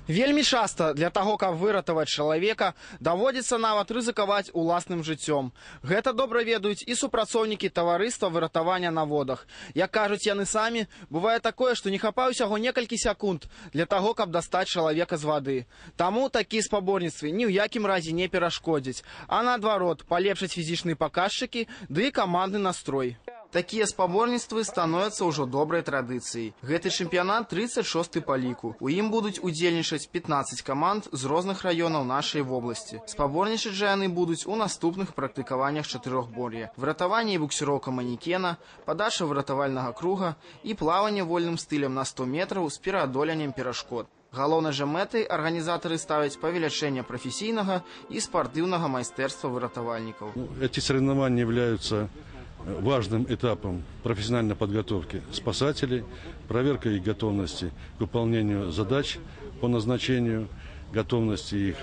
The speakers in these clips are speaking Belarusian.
Вельмі часта для таго, каб выратаваць чалавека, даводзіцца нават рызыкаваць уласным жыццём. Гэта добра ведаюць і супрацоўнікі таварыства выратавання на водах. Як кажуць яны самі, бывае такое, што не хапае ўсяго некалькі секунд для таго, каб дастаць чалавека з вады. Таму такія спаборніцтвы ні ў якім разе не перашкодзяць, а наадварот, палепшаць фізічныя паказчыкі ды і камандны настрой. Такія спаборніцтвы становяцца ўжо добрай традыцыяй. Гэты чэмпіянат 36-й па ліку. У ім будуць удзельнічаць 15 каманд з розных раёнаў нашай вобласці. Спаборнічаць жа яны будуць у наступных практыкаваннях чатырохбор'я: выратаванне і буксіроўка манекена, падача выратавальнага круга і плаванне вольным стылем на 100 метраў з пераадоленнем перашкод. Галоўнай жа мэтай арганізатары ставяць павелічэнне прафесійнага і спартыўнага майстэрства выратавальнікаў. Эти соревнования являются важным этапом профессиональной подготовки спасателей, проверка их готовности к выполнению задач по назначению, готовности их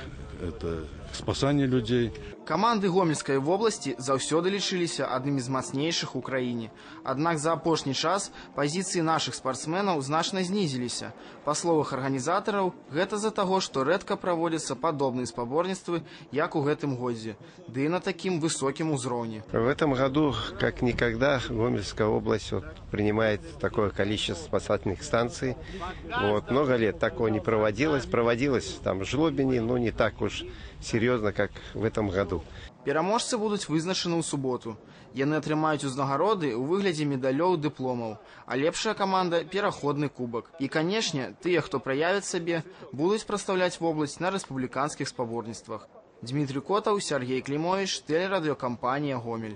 к спасанию людей. Каманды Гомельскай вобласці заўсёды лічыліся аднымі з мацнейшых у краіне. Аднак за апошні час пазіцыі нашых спартсменаў значна знізіліся. Па словах арганізатараў, гэта з-за таго, што рэдка праводзяцца падобныя спаборніцтвы, як у гэтым годзе, ды і на такім высокім узроўні. В этом году, как никогда, Гомельская область принимает такое количество спасательных станций. Много лет такого не проводилось. Проводилось там в Жлобине, но не так уж серьезно, как в этом году. Пераможцы будуць вызначаны ў суботу. Яны атрымаюць узнагароды ў выглядзе медалёў, дыпломаў, а лепшая каманда – пераходны кубак. І, канешне, тыя, хто праявіць сабе, будуць прадстаўляць вобласць на рэспубліканскіх спаборніцтвах. Дмітрий Котаў, Сергей Клімович, тэлерадыёкампанія «Гомель».